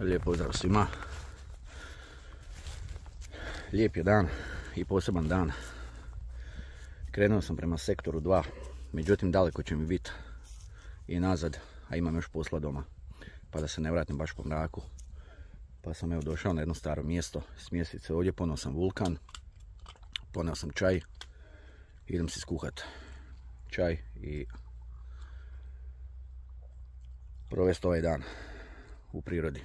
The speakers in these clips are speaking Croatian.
Lijep pozdrav svima. Lijep je dan i poseban dan. Krenuo sam prema sektoru 2, međutim daleko će mi biti i nazad, a imam još posla doma. Pa da se ne vratim baš po mraku. Pa sam evo došao na jedno staro mjesto, smjestit se ovdje, poneo sam vulkan, poneo sam čaj, idem si skuhat čaj i provesti ovaj dan u prirodi.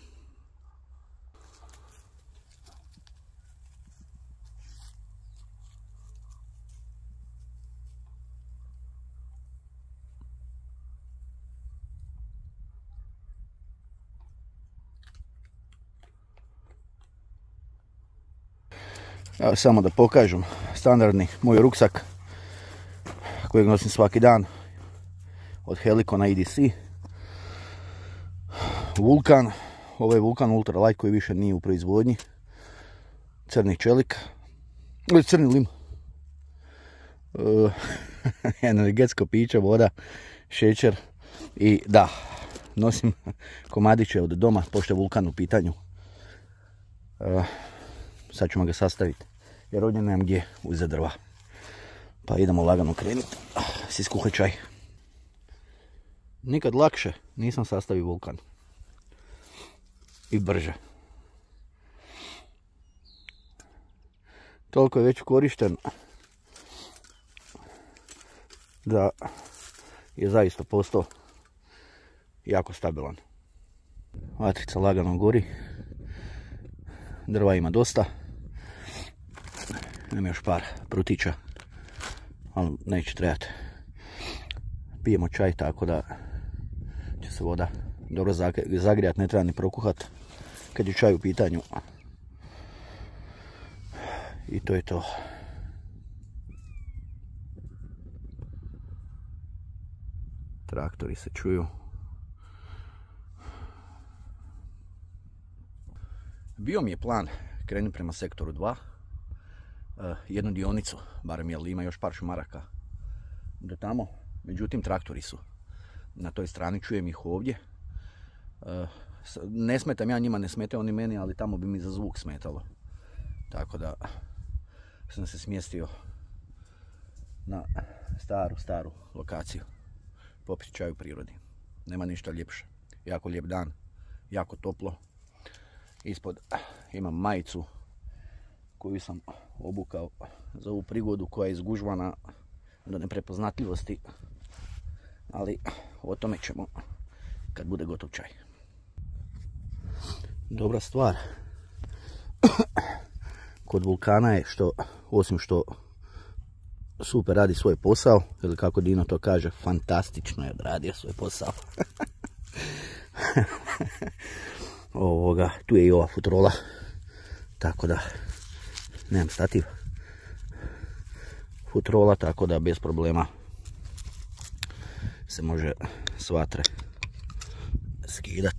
Evo samo da pokažem standardni moj ruksak kojeg nosim svaki dan od Helicona EDC. Vulkan, ovo je Vulkan Ultralight koji više nije u proizvodnji. Crni čelik, ili crni lim. Energetsko piće, voda, šećer i da, nosim komadiće od doma pošto je Vulkan u pitanju. Sad ćemo ga sastaviti jer ovdje nemam gdje uzeti drva. Pa idemo lagano krenuti. Si skuhaj čaj. Nikad lakše nisam sastavio Vulkan. I brže. Toliko je već korišten da je zaista postao jako stabilan. Vatrica lagano gori. Drva ima dosta. Imam još par prutića, ali neće trebati. Pijemo čaj tako da će se voda dobro zagrijati, ne treba ni prokuhat kad je čaj u pitanju. I to je to. Traktori se čuju. Bio mi je plan krenuti prema sektoru 2. Jednu dionicu, barem jer ima još par šumaraka do tamo. Međutim, traktori su na toj strani, čujem ih ovdje. Ne smetam ja njima, ne smetaju oni meni, ali tamo bi mi za zvuk smetalo. Tako da sam se smjestio na staru lokaciju. Popiti čaj u prirodi. Nema ništa ljepše. Jako lijep dan, jako toplo. Ispod imam majicu koju sam obukao za ovu prigodu koja je izgužvana do neprepoznatljivosti. Ali o tome ćemo kad bude gotov čaj. Dobra stvar kod Vulkana je što, osim što super radi svoj posao, ili kako Dino to kaže, fantastično je odradio svoj posao. Tu je i ova futrola, tako da nemam stativ. Futrola, tako da bez problema se može s vatre skidat.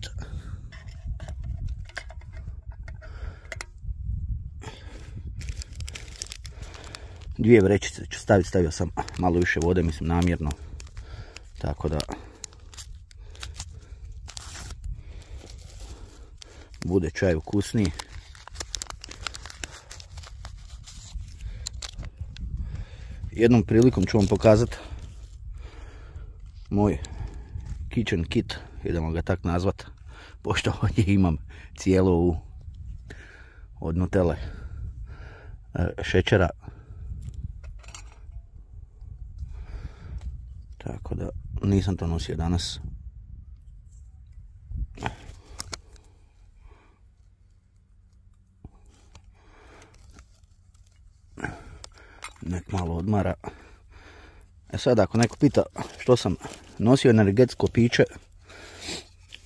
Dvije vrećice ću staviti, stavio sam malo više vode, mislim namjerno, tako da bude čaj ukusniji. Jednom prilikom ću vam pokazati moj kitchen kit, idemo ga tak nazvat, pošto ovdje imam cijelu ovu od Nutelle šećera. Tako da nisam to nosio danas. Nek malo odmara. Sad ako neko pita što sam nosio energetsko piće,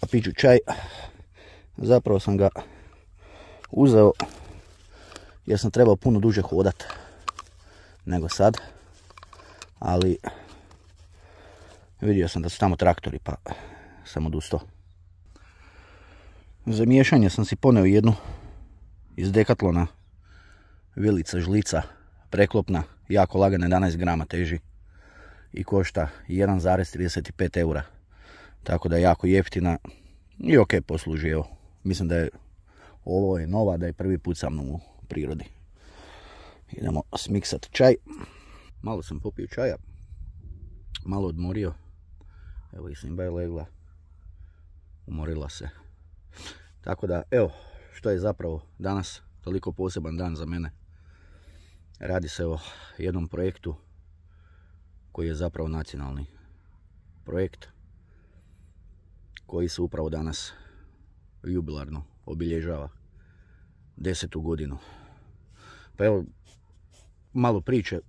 a piću čaj, zapravo sam ga uzeo jer sam trebao puno duže hodat nego sad, ali vidio sam da su tamo traktori pa sam odustao. Za miješanje sam si poneo jednu iz Decathlona, vilica žlica preklopna, jako lagana, 11 grama teži i košta 1,35 eura. Tako da je jako jeftina i ok posluži, evo, Mislim da je ovo je nova, da je prvi put sa mnom u prirodi. Idemo smiksat čaj. Malo sam popio čaja, malo odmorio. Evo i Simba je legla, umorila se. Tako da, evo, što je zapravo danas toliko poseban dan za mene. Radi se o jednom projektu koji je zapravo nacionalni projekt, koji se upravo danas jubilarno obilježava 10. godinu. Pa evo, malo priče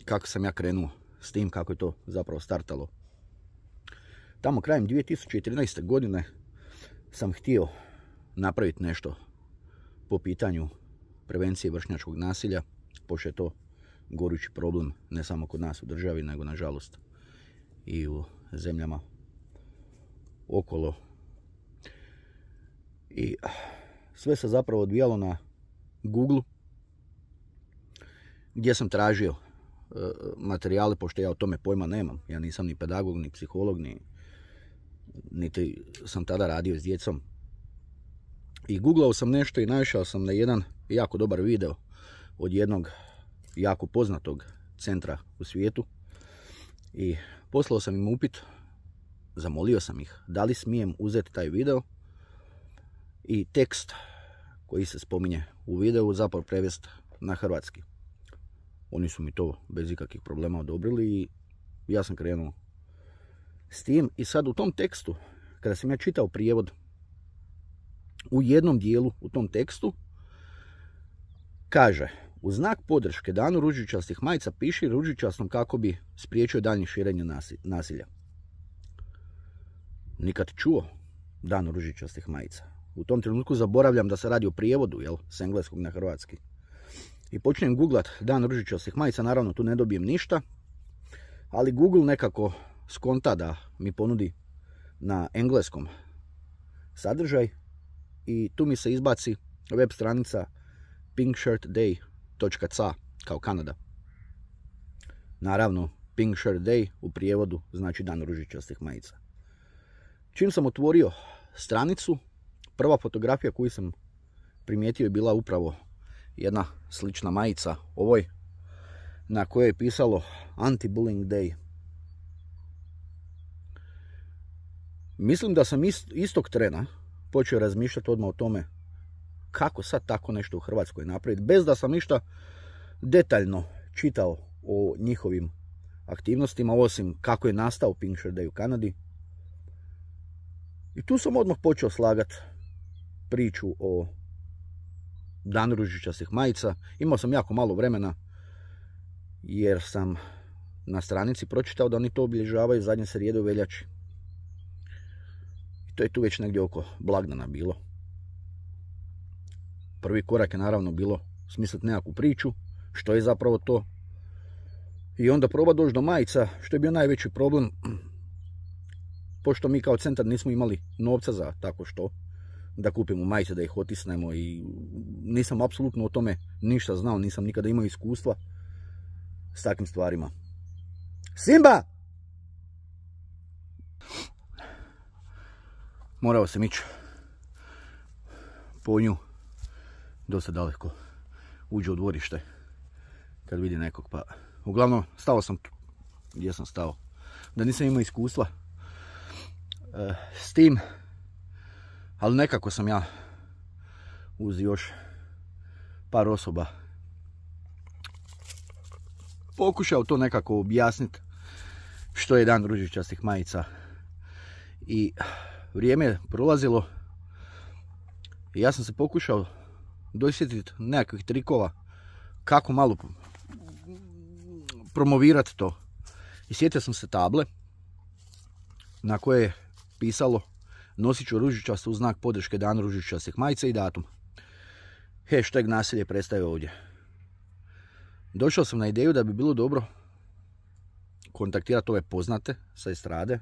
kako sam ja krenuo s tim, kako je to zapravo startalo. Tamo krajem 2013. godine sam htio napraviti nešto po pitanju prevencije vršnjačkog nasilja, pošto je to gorući problem ne samo kod nas u državi, nego nažalost i u zemljama okolo. I sve se zapravo odvijalo na Google, gdje sam tražio materijale, pošto ja o tome pojma nemam. Ja nisam ni pedagog, ni psiholog, niti sam tada radio s djecom. I googlao sam nešto i naišao sam na jedan jako dobar video od jednog jako poznatog centra u svijetu. I poslao sam im upit, zamolio sam ih da li smijem uzeti taj video i tekst koji se spominje u videu zapravo prevesti na hrvatski. Oni su mi to bez ikakvih problema odobrili i ja sam krenuo s tim. I sad u tom tekstu, kada sam ja čitao prijevod, u jednom dijelu u tom tekstu kaže: u znak podrške danu ružičastih majica piši ružičastom kako bi spriječio daljnje širenje nasilja. Nikad čuo dan ružičastih majica. U tom trenutku zaboravljam da se radi o prijevodu, s engleskog na hrvatski. I počnem googlat dan ružičastih majica, naravno tu ne dobijem ništa, ali Google nekako skonta da mi ponudi na engleskom sadržaj i tu mi se izbaci web stranica pinkshirtday.ca kao Kanada. Naravno, Pink Shirt Day u prijevodu znači dan ružičastih majica. Čim sam otvorio stranicu, prva fotografija koju sam primijetio je bila upravo jedna slična majica ovoj, na kojoj je pisalo Anti-Bullying Day. Mislim da sam istog trena počeo razmišljati odmah o tome kako sad tako nešto u Hrvatskoj napraviti, bez da sam ništa detaljno čitao o njihovim aktivnostima, osim kako je nastao Pink Shirt Day u Kanadi. I tu sam odmah počeo slagati priču o danu ružičastih majica. Imao sam jako malo vremena jer sam na stranici pročitao da oni to obilježavaju zadnje srijede u veljači. I to je tu već negdje oko blagdana bilo. Prvi korak je naravno bilo smisliti nekakvu priču, što je zapravo to. I onda proba doći do majica, što je bio najveći problem, pošto mi kao centar nismo imali novca za tako što, da kupimo majice, da ih otisnemo, i nisam apsolutno o tome ništa znao, nisam nikada imao iskustva s takvim stvarima. Simba! Morao sam ići po nju dosta daleko, uđe u dvorište kad vidi nekog, pa uglavnom stao sam tu gdje sam stao, da nisam imao iskustva s tim, ali nekako sam ja uz još par osoba pokušao to nekako objasniti što je dan ružičastih majica. I vrijeme je prolazilo i ja sam se pokušao dosjetiti nekakvih trikova kako malo promovirati to. I sjetio sam se table na koje je pisalo: nosit ću ružičasto u znak podrške danu ružičastih majica i datum. Hashtag nasilje prestaje ovdje. Došao sam na ideju da bi bilo dobro kontaktirati ove poznate sa estrade.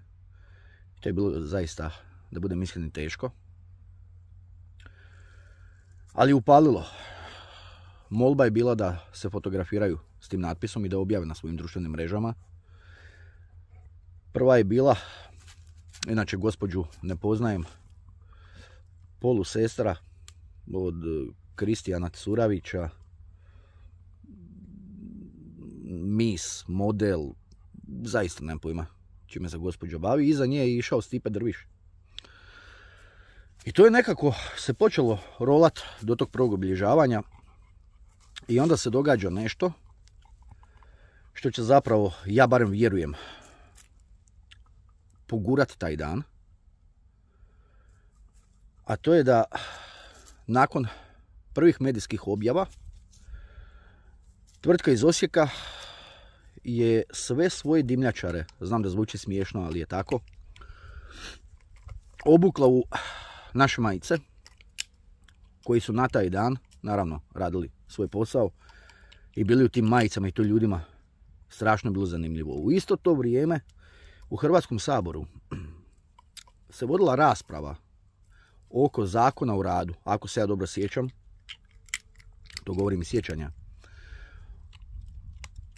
To je bilo zaista, da budem iskren, teško. Ali upalilo. Molba je bila da se fotografiraju s tim natpisom i da objave na svojim društvenim mrežama. Prva je bila, inače gospođu ne poznajem, polusestra od Kristijana Curavića, mis, model, zaista nemam pojma čime se gospođa bavi. Iza nje je išao Stipe Drviš. I to je nekako se počelo rolat do tog prvog obilježavanja i onda se događa nešto što će zapravo, ja barem vjerujem, pogurat taj dan. A to je da nakon prvih medijskih objava tvrtka iz Osijeka je sve svoje dimnjačare, znam da zvuči smiješno, ali je tako, obukla u naše majice koji su na taj dan, naravno, radili svoj posao i bili u tim majicama i to ljudima strašno bilo zanimljivo. U isto to vrijeme u Hrvatskom saboru se vodila rasprava oko Zakona o radu, ako se ja dobro sjećam, to govorim iz sjećanja,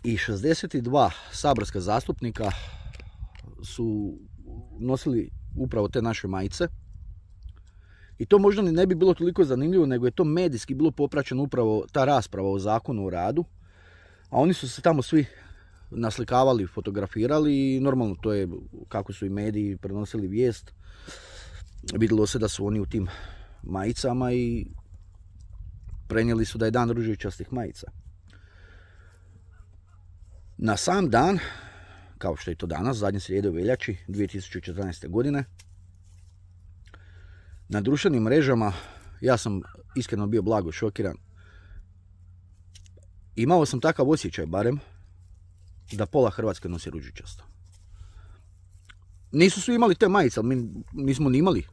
i 62 saborska zastupnika su nosili upravo te naše majice. I to možda ni ne bi bilo toliko zanimljivo, nego je to medijski bilo popraćeno upravo ta rasprava o Zakonu o radu. A oni su se tamo svi naslikavali, fotografirali i normalno to je kako su i mediji prenosili vijest. Vidjelo se da su oni u tim majicama i prenijeli su da je dan ružičastih majica. Na sam dan, kao što je to danas, zadnje srijede u veljači 2014. godine, na društvenim mrežama, ja sam iskreno bio blago šokiran. Imao sam takav osjećaj barem, da pola Hrvatske nosi ružičasto. Nisu svi imali te majice, ali mi nismo ni imali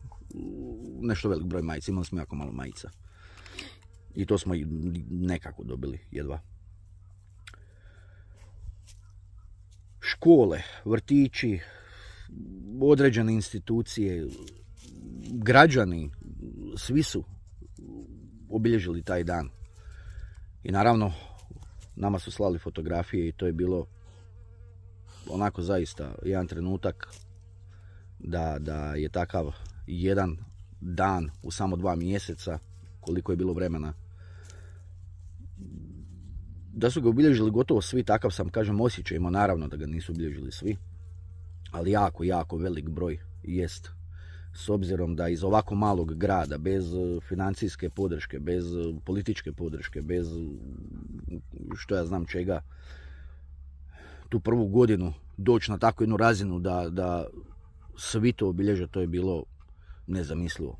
nešto velik broj majica, imali smo jako malo majica. I to smo nekako dobili, jedva. Škole, vrtići, određene institucije, građani, svi su obilježili taj dan. I naravno, nama su slali fotografije i to je bilo onako zaista jedan trenutak da je takav jedan dan u samo 2 mjeseca, koliko je bilo vremena, da su ga obilježili gotovo svi. Takav sam, kažem, osjećaj imao, naravno da ga nisu obilježili svi, ali jako, jako velik broj jest. S obzirom da iz ovako malog grada, bez financijske podrške, bez političke podrške, bez što ja znam čega, tu prvu godinu doći na takvu jednu razinu da svi to obilježe, to je bilo nezamislivo.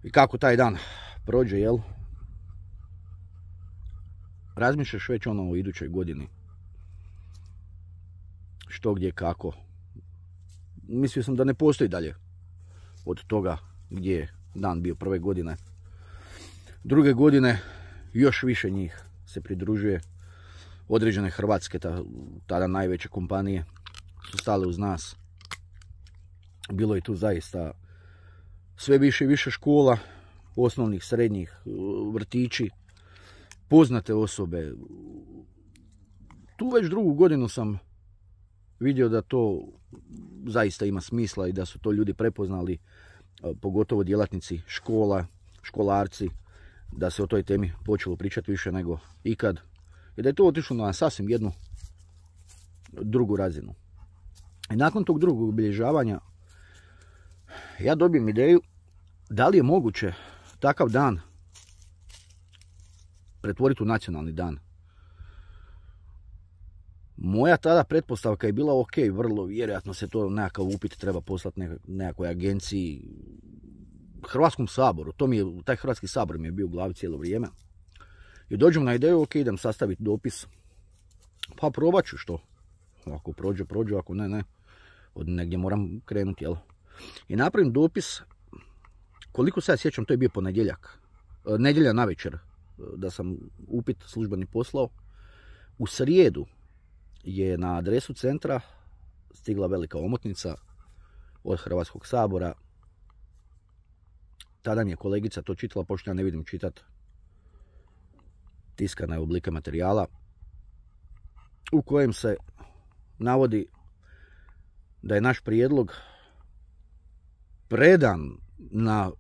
I kako taj dan prođe, jel? Razmišljaš već ono u idućoj godini. Što, gdje, kako. Mislio sam da ne postoji dalje od toga gdje je dan bio prve godine. Druge godine još više njih se pridružuje. Određene hrvatske, tada najveće kompanije, su stale uz nas. Bilo je tu zaista sve više i više škola, osnovnih, srednjih, vrtići, poznate osobe. Tu već drugu godinu sam vidio da to zaista ima smisla i da su to ljudi prepoznali, pogotovo djelatnici škola, školarci, da se o toj temi počelo pričati više nego ikad i da je to otišlo na sasvim jednu drugu razinu. I nakon tog drugog obilježavanja ja dobijem ideju da li je moguće takav dan pretvoriti u nacionalni dan. Moja tada pretpostavka je bila ok, vrlo vjerojatno se to nekakav upit treba poslati nekakvoj agenciji, Hrvatskom saboru. Taj Hrvatski sabor mi je bio u glavi cijelo vrijeme. I dođem na ideju, ok, idem sastaviti dopis. Pa probat ću što. Ako prođe, ako ne. Od negdje moram krenuti, jel? I napravim dopis, koliko se ja sjećam, to je bio ponedjeljak. Nedjelja navečer da sam upit službeni poslao. U srijedu je na adresu centra stigla velika omotnica od Hrvatskog sabora. Tada mi je kolegica to čitala, pošto ja ne vidim čitati tiskane oblike materijala, u kojem se navodi da je naš prijedlog predan na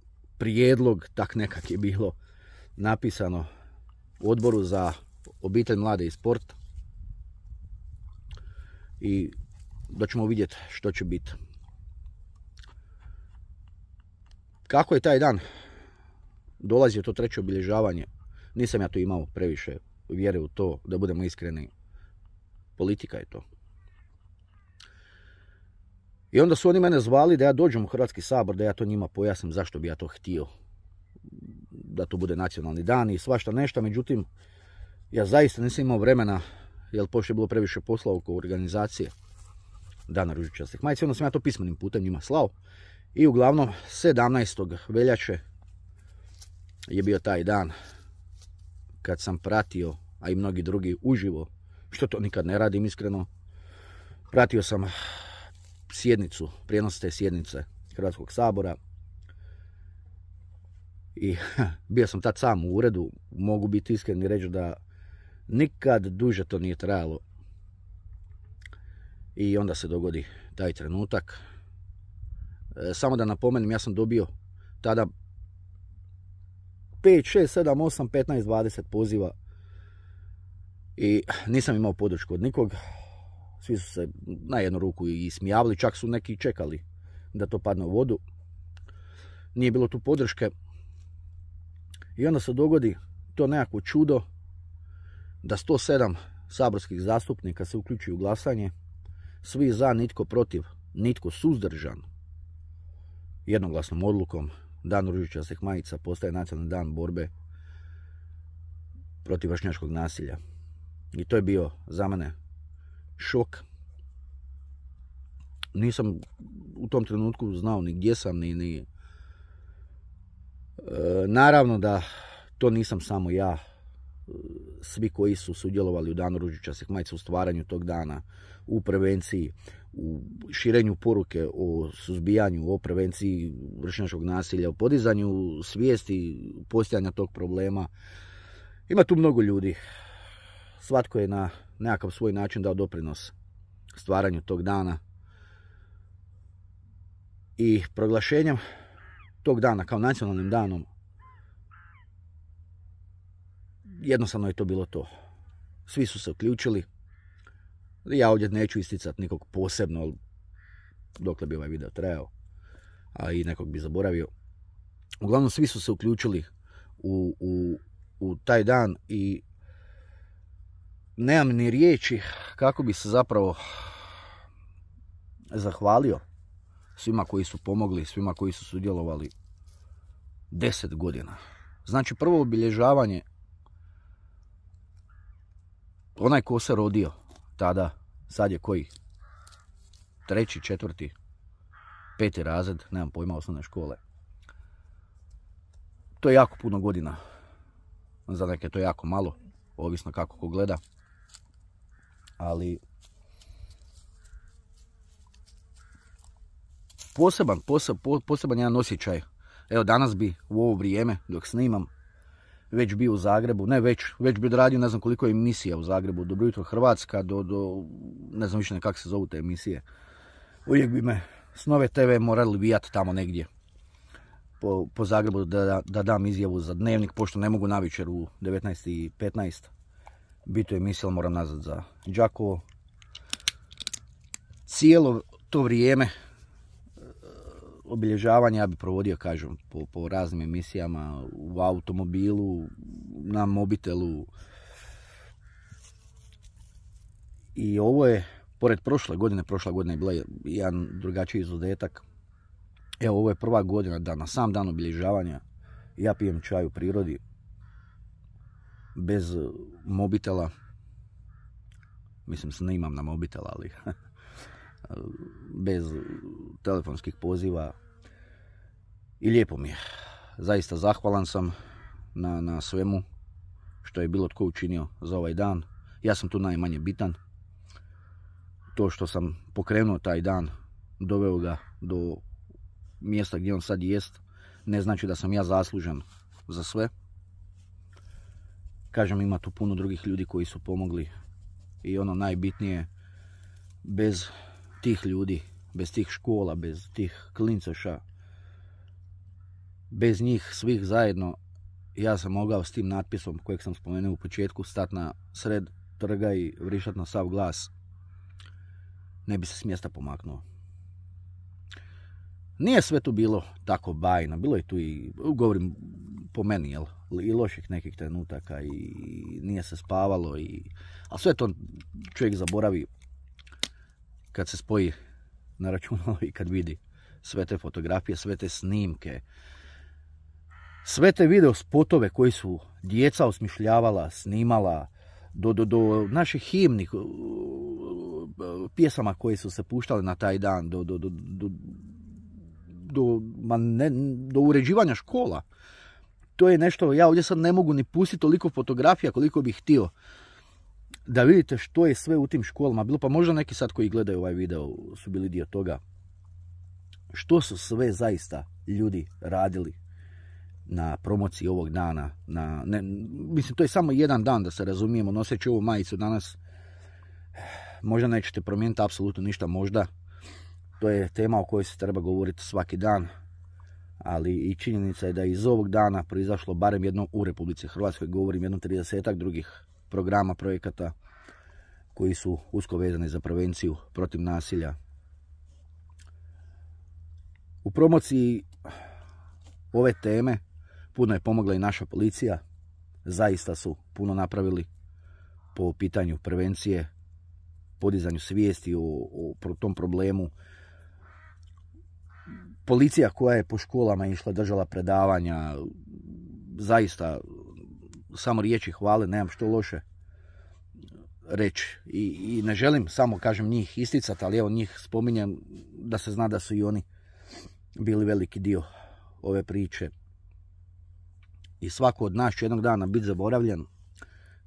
prijedlog, tak nekak je bilo napisano u Odboru za obitelj, mlade i sport. I da ćemo vidjeti što će biti. Kako je taj dan dolazio to treće obilježavanje, nisam ja tu imao previše vjere u to, da budemo iskreni. Politika je to. I onda su oni mene zvali da ja dođem u Hrvatski sabor, da ja to njima pojasnim zašto bi ja to htio. Da to bude nacionalni dan i svašta nešto, međutim, ja zaista nisam imao vremena, jer pošto je bilo previše posla oko organizacije Dana ružičastih majica, onda sam ja to pismenim putem njima slao. I uglavnom 17. veljače je bio taj dan kad sam pratio, a i mnogi drugi uživo, što to nikad ne radim iskreno, pratio sam sjednicu, prijenos te sjednice Hrvatskog sabora i bio sam tad sam u uredu, mogu biti iskren i reći da nikad duže to nije trajalo. I onda se dogodi taj trenutak. Samo da napomenem, ja sam dobio tada 5, 6, 7, 8, 15, 20 poziva i nisam imao podršku od nikog. Svi su se na jednu ruku i smijavali, čak su neki čekali da to padne u vodu. Nije bilo tu podrške. I onda se dogodi to nekako čudo da 107 saborskih zastupnika se uključuju u glasanje. Svi za, nitko protiv, nitko suzdržan. Jednoglasnom odlukom Dan ružičastih majica postaje nacionalni dan borbe protiv vršnjačkog nasilja. I to je bio za mene šok. Nisam u tom trenutku znao ni gdje sam, ni... Naravno da to nisam samo ja. Svi koji su sudjelovali u Danu ružičastih majica, u stvaranju tog dana, u prevenciji, u širenju poruke o suzbijanju, o prevenciji vršnjačkog nasilja, o podizanju svijesti postojanja tog problema. Ima tu mnogo ljudi. Svatko je na nekakav svoj način dao doprinos stvaranju tog dana. I proglašenjem tog dana kao nacionalnim danom, jednostavno je to bilo to. Svi su se uključili. Ja ovdje neću isticati nikog posebno, dokle bi ovaj video trajao, a i nekog bi zaboravio. Uglavnom, svi su se uključili u taj dan i nemam ni riječi kako bi se zapravo zahvalio svima koji su pomogli, svima koji su sudjelovali 10 godina. Znači, prvo obilježavanje, onaj ko se rodio tada, sad je koji? 3., 4., 5. razred, nemam pojma, osnovne škole. To je jako puno godina. Za neke to je jako malo, ovisno kako ko gleda. Ali poseban jedan osjećaj. Evo, danas bi u ovo vrijeme dok snimam već bio u Zagrebu, već bi odradio ne znam koliko emisija u Zagrebu, Dobro jutro Hrvatska, do ne znam više kako se zovu te emisije. Uvijek bi me s Nove TV morali vijati tamo negdje po Zagrebu da dam izjavu za Dnevnik, pošto ne mogu navečer u 19:15 biti u emisiji, ali moram nazad za Đakovo. Cijelo to vrijeme obilježavanja ja bi provodio, kažem, po raznim emisijama, u automobilu, na mobitelu. I ovo je, pored prošla godina je bila jedan drugačiji izuzetak. Evo, ovo je prva godina da na sam dan obilježavanja ja pijem čaj u prirodi, bez mobitela. Mislim, snimam na mobitel, ali bez telefonskih poziva. I lijepo mi je. Zaista zahvalan sam na svemu što je bilo tko učinio za ovaj dan. Ja sam tu najmanje bitan. To što sam pokrenuo taj dan, doveo ga do mjesta gdje on sad jest, ne znači da sam ja zaslužan za sve. Kažem, ima tu puno drugih ljudi koji su pomogli i ono najbitnije, bez tih ljudi, bez tih škola, bez tih klincoša, bez njih svih zajedno ja sam mogao s tim natpisom kojeg sam spomenuo u početku stati na sred trga i vrišati na sav glas. Ne bi se s mjesta pomaknuo. Nije sve tu bilo tako bajno, bilo je tu i, govorim po meni, jel, i loših nekih trenutaka i nije se spavalo, ali sve to čovjek zaboravi kad se spoji na računalo i kad vidi sve te fotografije, sve te snimke, sve te video spotove koji su djeca osmišljavala, snimala, do naših himni, pjesama koje su se puštale na taj dan, do uređivanja škola. To je nešto, ja ovdje sad ne mogu ni pustiti toliko fotografija koliko bih htio da vidite što je sve u tim školama bilo, pa možda neki sad koji gledaju ovaj video su bili dio toga. Što su sve zaista ljudi radili na promociji ovog dana. Mislim, to je samo jedan dan, da se razumijemo, noseći ovu majicu danas. Možda nećete promijeniti apsolutno ništa, možda. To je tema o kojoj se treba govoriti svaki dan, ali i činjenica je da je iz ovog dana proizašlo barem jedno u Republici Hrvatskoj, govorim jedno 30-ak drugih programa, projekata koji su usko vezani za prevenciju protiv nasilja. U promociji ove teme puno je pomogla i naša policija, zaista su puno napravili po pitanju prevencije, podizanju svijesti o tom problemu. Policija koja je po školama išla, držala predavanja, zaista samo riječi hvale, nemam što loše reći. I ne želim samo, kažem, njih isticati, ali evo njih spominjem da se zna da su i oni bili veliki dio ove priče. I svako od nas će jednog dana biti zaboravljen,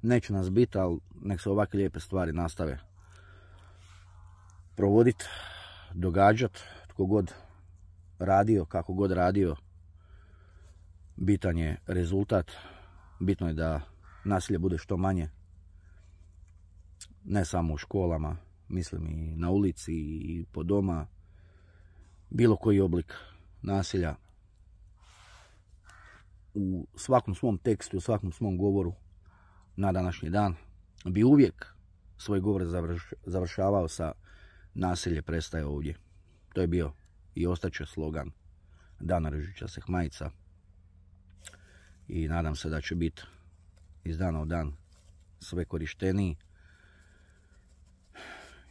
neće nas biti, ali nek se ovakve lijepe stvari nastave provoditi, događati, tko god radio, kako god radio, bitan je rezultat, bitno je da nasilje bude što manje, ne samo u školama, mislim i na ulici i po doma, bilo koji oblik nasilja. U svakom svom tekstu, u svakom svom govoru na današnji dan bi uvijek svoj govor završavao sa nasilje prestaje ovdje. To je bio i ostaće slogan Dana ružičastih majica i nadam se da će biti iz dana u dan sve korišteniji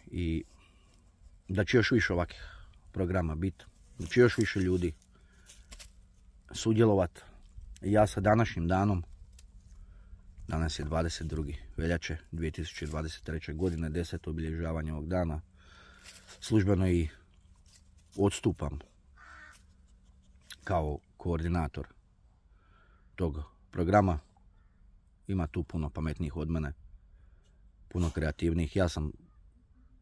i da će još više ovakvih programa biti, da će još više ljudi sudjelovati. Ja sa današnjim danom, danas je 22. veljače 2023. godine, 10. obilježavanje ovog dana, službeno i odstupam kao koordinator tog programa. Ima tu puno pametnijih od mene, puno kreativnijih. Ja sam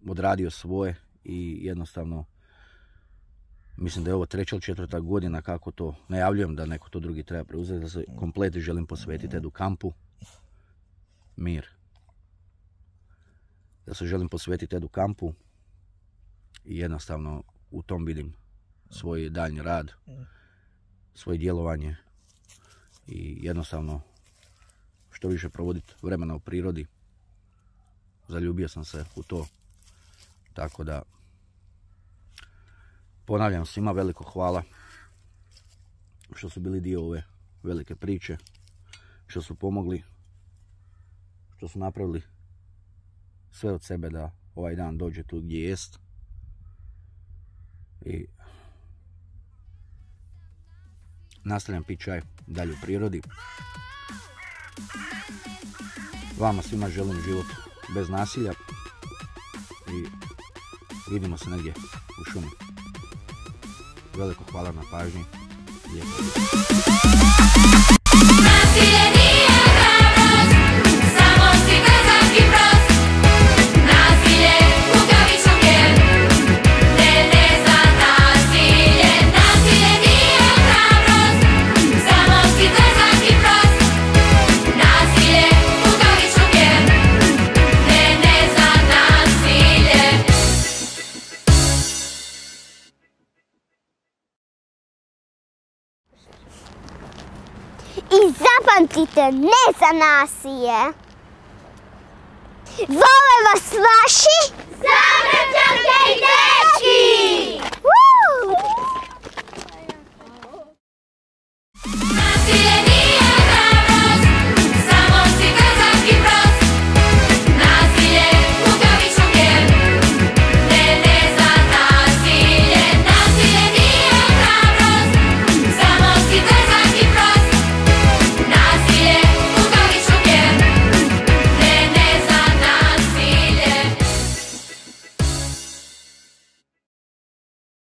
odradio svoje i jednostavno mislim da je ovo 3. ili 4. godina kako to najavljujem da neko to drugi treba preuzeti, da se komplet želim posvetiti Edu kampu. Mir. Da se želim posvetiti Edu kampu i jednostavno u tom vidim svoj daljnji rad, svoje djelovanje i jednostavno što više provoditi vremena u prirodi. Zaljubio sam se u to, tako da ponavljam svima veliko hvala što su bili dio ove velike priče, što su pomogli, što su napravili sve od sebe da ovaj dan dođe tu gdje jest. I nastavljam piti čaj dalje u prirodi. Vama svima želim život bez nasilja i vidimo se negdje u šumi. Veliko hvala na pažnji. I zapamtite, ne za nasilje. Vole vas vaši...